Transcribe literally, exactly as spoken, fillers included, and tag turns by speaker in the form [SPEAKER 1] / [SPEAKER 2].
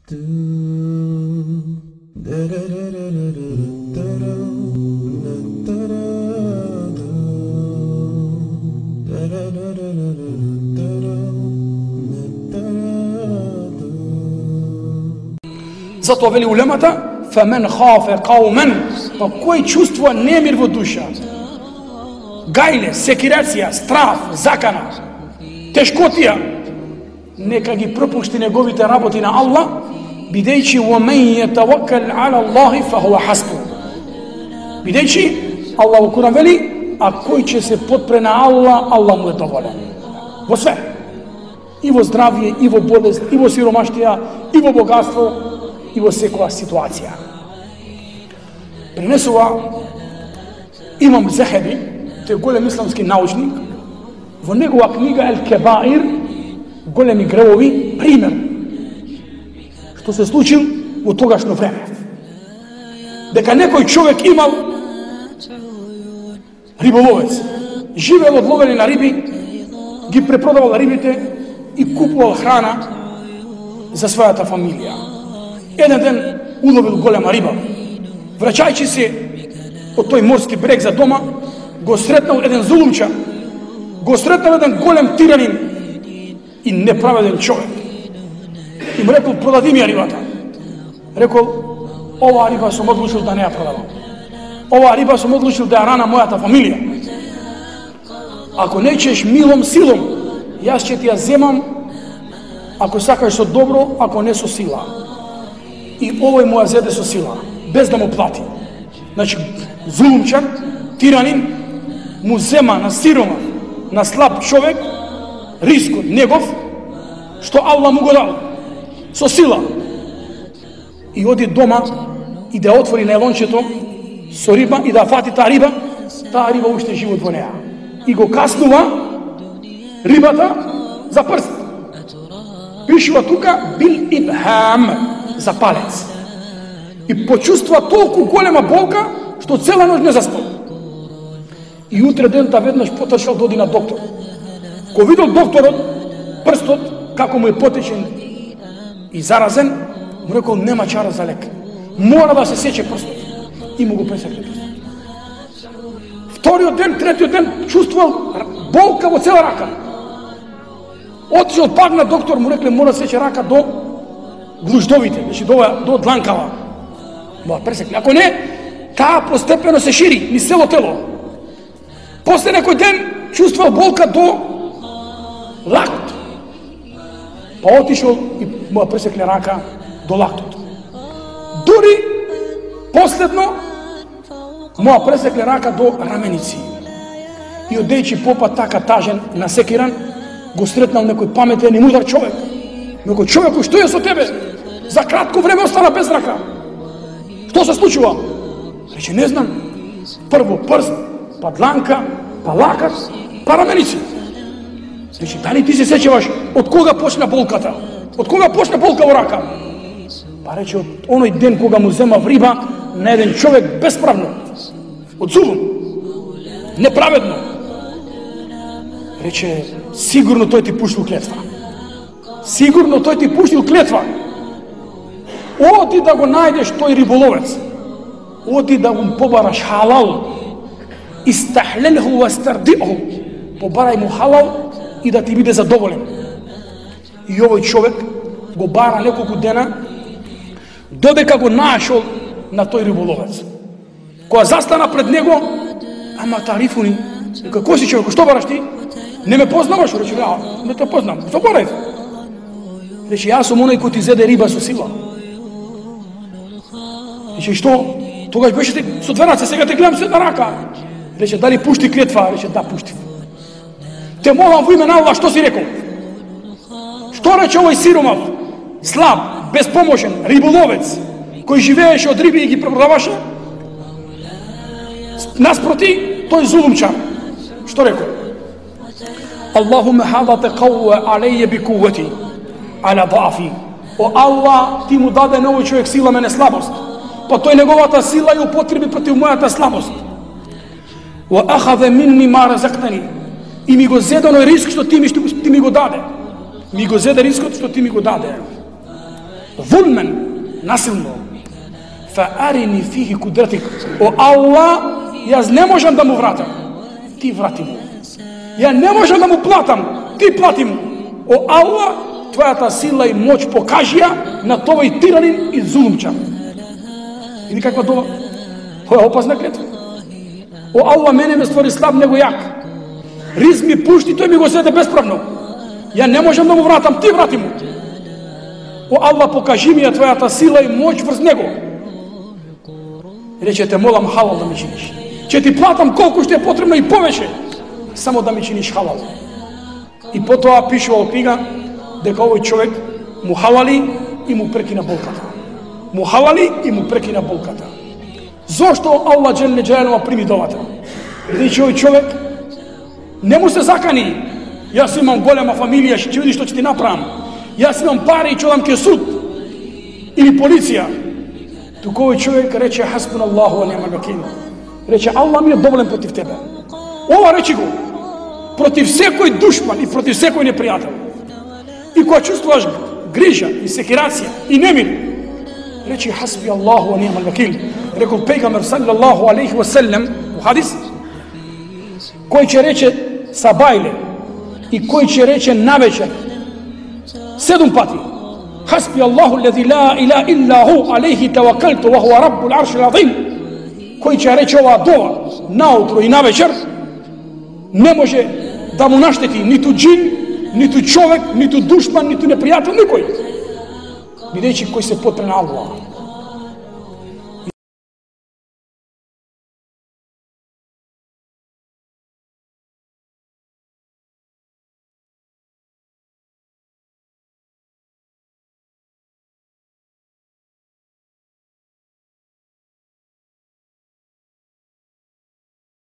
[SPEAKER 1] Затоа вели улемата, фамен хафе каумен, па кој чувствува немир во душа, гајле, секирација, страф, закана, тешкотија, нека ги пропушти неговите работи на Аллах, бидејќи وَمَنْ يَتَوَكَّلْ عَلَى اللَّهِ فَهُوَ حَسْبُهُ. Бидејќи Аллах во Куран вели, а кој ќе се потпре на Аллах, Аллах му е доволен. Во све. И во здравје, и во болест, и во сиромаштија, и во богатство, и во секоја ситуација. Пренесува Имам Захаби, тој голем исламски научник, во негова книга Ел Кебаир, големи гревови, пример што се случил во тогашно време. Дека некој човек имал риболовец, живеел од ловење на риби, ги препродавал рибите и купувал храна за својата фамилија. Еден ден уловил голема риба. Враќајќи се од тој морски брег за дома, го сретнал еден зулумча, го сретнал еден голем тиранин и неправеден човек. И му рекол, продади ми ја рибата. Рекол, оваа риба сум одлучил да не ја продавам. Оваа риба сум одлучил да ја рана мојата фамилија. Ако не ćeš милом силом, јас ќе ти ја земам, ако сакаш со добро, ако не со сила. И овој му ја зеде со сила, без да му плати. Значи, зулумчар, тиранин, му зема на сирома, на слаб човек, рискот негов, што Аллах му го дал, со сила. И оди дома и да отвори најлончето со риба и да фати таа риба, таа риба уште живот во неа. И го каснува рибата за прст. Пишува тука бил ибхам, за палец. И почувствува толку голема болка, што цела ноќ не заспал. И утре дента веднаш потрчал да оди на доктор. Ко видел докторот прстот како му е потечен и заразен, му рекол нема чара за лек. Мора да се сече прстот. И му го пресекне прстот. Вториот ден, третиот ден чувствувал болка во цела рака. Отишол пак на доктор, му рекле мора да сече рака до глуждовите, значи до, до дланкава. Мора пресекне. Ако не, таа постепено се шири низ цело тело. После некој ден чувствувал болка до лактот. Па отишол и му пресекне рака до лактот. Дури последно му пресекне рака до раменици. И одејќи попа така тажен, насекиран, го сретнал некој паметен и мудар човек. Некој човеку, што е со тебе? За кратко време остана без рака. Што се случува? Рече, не знам. Прво прст, па дланка, па лакат, па раменици. Рече, дали ти се сеќаваш од кога почна болката? Од кога почна болка во рака? Па рече, од оној ден кога му зема риба на еден човек безправно. Од зулум. Неправедно. Рече, сигурно тој ти пуштил клетва. Сигурно тој ти пуштил клетва. Оди да го најдеш тој риболовец. Оди да го побараш халал. Истахлелху ва стардиху. Побарај му халал и да ти биде задоволен. И овој човек го бара неколку дена, додека го нашол на тој риболовец. Кога застана пред него, ама тарифуни, како си човек, што бараш ти? Не ме познаваш? Рече, а, не те познам. Што барај? Рече, јас сум оној кој ти зеде риба со сила. Рече, што? Тогаш беше ти со две раце, сега те гледам се на рака. Рече, дали пушти клетва? Рече, да, пуштив. Те молам во име на Аллах, што си рекол? Што рече овој сиромав, слаб, безпомошен, риболовец, кој живееше од риби и ги препродаваше? Наспроти, тој зулумчар. Што рекол? Аллахуме хадате кауе алеје би кувати, аля дафи. О Аллах, ти му даде на овој човек сила, мене слабост. Па тој неговата сила ја употреби против мојата слабост. Ва ахаде минни ма разактани. И ми го зеде оној риск што ти ми, ти ми го даде. Ми го зеде рискот што ти ми го даде. Zulmen, nasilno. Fa arini fihi kudretik. O Allah, jaz ne možem da mu vratam. Ti vrati mu. Ja ne možem da mu platam. Ти плати му. О Аллах, твојата сила и моќ покажи ја на тој тиранин и зулумча. Види каква дова? Тоа е опасна клетва. О Аллах, мене ме створи слаб, него јак. Риз ми пушти, тој ми го седе бесправно. Ја не можам да му вратам, ти врати му. О Аллах, покажи ми ја твојата сила и моќ врз него. Рече, те молам халал да ми чиниш. Че ти платам колку што е потребно и повеќе, само да ми чиниш халал. И потоа пишува во книга дека овој човек му халали и му прекина болката. Му халали и му прекина болката. Зошто Аллах джеле джелалу прими довата? Бидејќи овој човек не му се закани. Јас имам голема фамилија, ќе видиш што ќе ти направам. Јас имам пари и ќе одам ке суд или полиција. Туку овој човек рече хасбуналлаху ва ни'мал вакил. Рече Аллах ми е доволен против тебе. Ова речи го против секој душман и против секој непријател. И кога чувствуваш грижа и секирација и немир, речи хасби Аллаху ва ни'мал вакил. Рекол пејгамбер саллаллаху алейхи ва селем у хадис, кој ќе рече сабајле и кој ќе рече навечер седум пати хасби Аллаху лези ла илаха илла ху алейхи таваккалту ва хуа раббул аршил азим, кој ќе рече ова дова наутро и навечер, не може да му наштети ниту джин, ниту човек, ниту душман, ниту непријател, никој. Бидејќи кој се потре на Аллах,